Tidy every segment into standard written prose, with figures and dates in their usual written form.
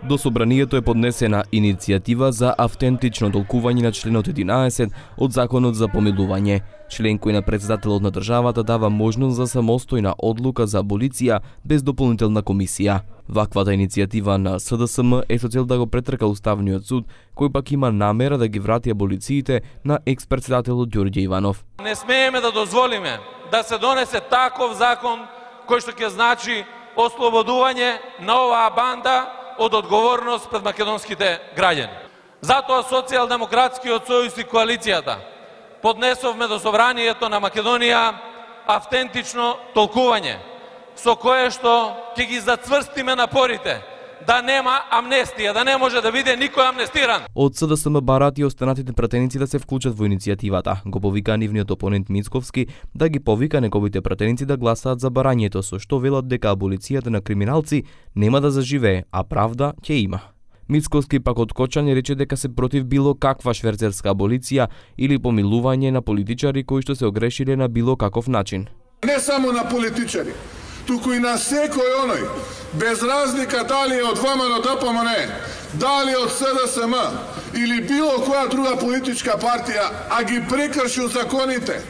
До собранието е поднесена иницијатива за автентично толкување на членот 11 од Законот за помилување, член кој на председателот на државата дава можност за самостојна одлука за аболиција без дополнителна комисија. Ваквата иницијатива на СДСМ е со цел да го претрка Уставниот суд, кој пак има намера да ги врати аболициите на екс-председателот Ѓорѓе Иванов. Не смееме да дозволиме да се донесе таков закон кој што ќе значи ослободување на оваа банда од одговорност пред македонските граѓани. Затоа Социјалдемократскиот сојуз и коалицијата поднесовме до собранието на Македонија автентично толкување, со кое што ќе ги зацврстиме напорите да нема амнестија, да не може да биде никој амнестиран. Од СДСМ барат и останатите пратеници да се вклучат во иницијативата. Го повика нивниот опонент Мицковски да ги повика неговите пратеници да гласаат за барањето, со што велат дека аболицијата на криминалци нема да заживее, а правда ќе има. Мицковски пак од Кочани рече дека се против било каква шверцерска аболиција или помилување на политичари кои што се огрешиле на било каков начин. Не само на политичари, туку и на секој оној, без разлика дали е од ВМРО ДПМН, дали од СДСМ или било која друга политичка партија, а ги прекршил законите,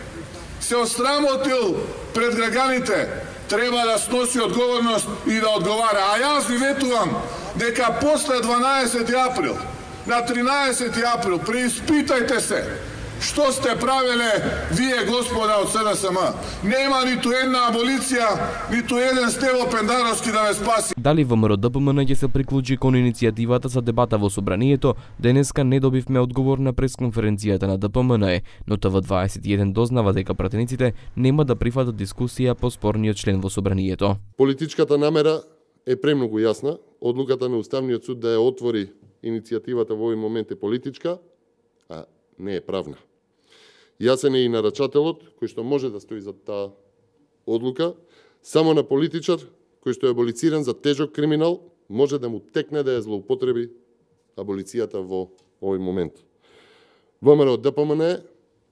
се осрамотил пред граѓаните, треба да сноси одговорност и да одговара. А јас ви ветувам дека после 12 април, на 13 април, преиспитајте се што сте правеле вие, господа од СДСМ. Нема ниту една аболиција, ниту еден Стево Пендаровски да ве спаси. Дали ВМРО ДПМН ќе се приклучи кон иницијативата за дебата во собранието, денеска не добивме одговор на пресконференцијата на ДПМН, но ТВ21 дознава дека пратениците нема да прифатат дискусија по спорниот член во собранието. Политичката намера е премногу јасна. Одлуката на Уставниот суд да ја отвори иницијативата во овој момент е политичка, а не е правна. Јасен е и нарачателот кој што може да стои за таа одлука. Само на политичар кој што е аболициран за тежок криминал може да му текне да ја злоупотреби аболицијата во овој момент. ВМРО ДПМН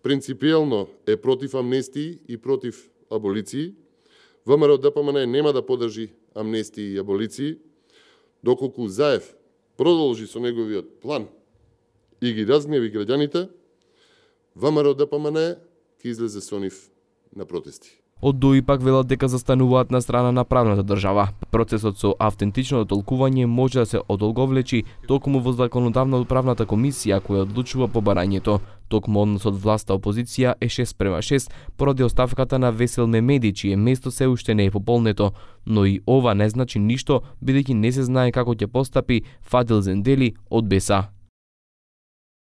принципиелно е против амнестии и против аболиции. ВМРО ДПМН нема да поддржи амнестии и аболиции, доколку Заев продолжи со неговиот план и ги разгневи граѓаните, ВМРО ДПМН ќе излезе со нив на протести. Од ДУИ пак велат дека застануваат на страна на правната држава. Процесот со автентичното толкување може да се одолговлечи токму во законодавна управната комисија која одлучува по барањето. Токму односот власта-опозиција е 6:6 поради оставката на Весел Мемеди, чие место се уште не е пополнето. Но и ова не значи ништо, бидејќи не се знае како ќе постапи Фадил Зендели од БЕСА.